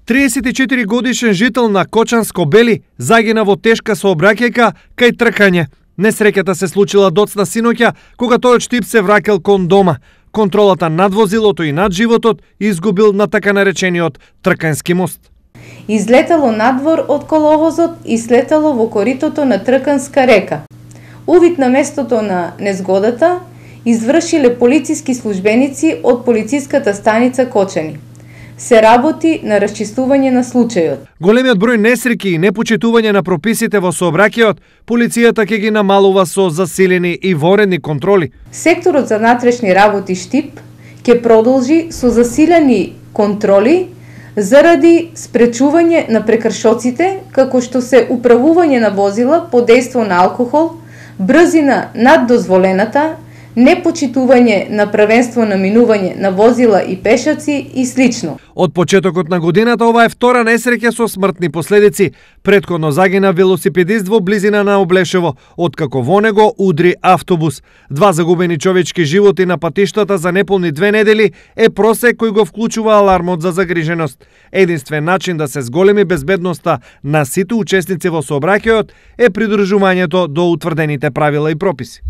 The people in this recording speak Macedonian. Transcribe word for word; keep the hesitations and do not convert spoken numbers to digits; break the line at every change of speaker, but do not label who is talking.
триесет и четири годишен жител на Кочанско Бели загина во тешка сообраќајка кај тркање. Несреќата се случила доцна синоќа кога тој од Штип се враќал кон дома. Контролата над возилото и над животот изгубил на така наречениот Тркански мост.
Излетало надвор од коловозот и слетало во коритото на Трканска река. Увид на местото на незгодата извршиле полициски службеници од полициската станица Кочани. Се работи на расчистување на случајот.
Големиот број несреќи и непочитување на прописите во сообраќајот, полицијата ќе ги намалува со засилени и воредни контроли.
Секторот за внатрешни работи Штип ќе продолжи со засилени контроли заради спречување на прекршоците, како што се управување на возила под дејство на алкохол, брзина над дозволената, непочитување на правенство на минување на возила и пешаци и слично.
Од почетокот на годината ова е втора несреќа со смртни последици. Претходно загина велосипедист во близина на Облешево, откако во него удри автобус. Два загубени човечки животи на патиштата за неполни две недели е просек кој го вклучува алармот за загриженост. Единствен начин да се зголеми безбедноста на сите учесници во сообраќајот е придржувањето до утврдените правила и прописи.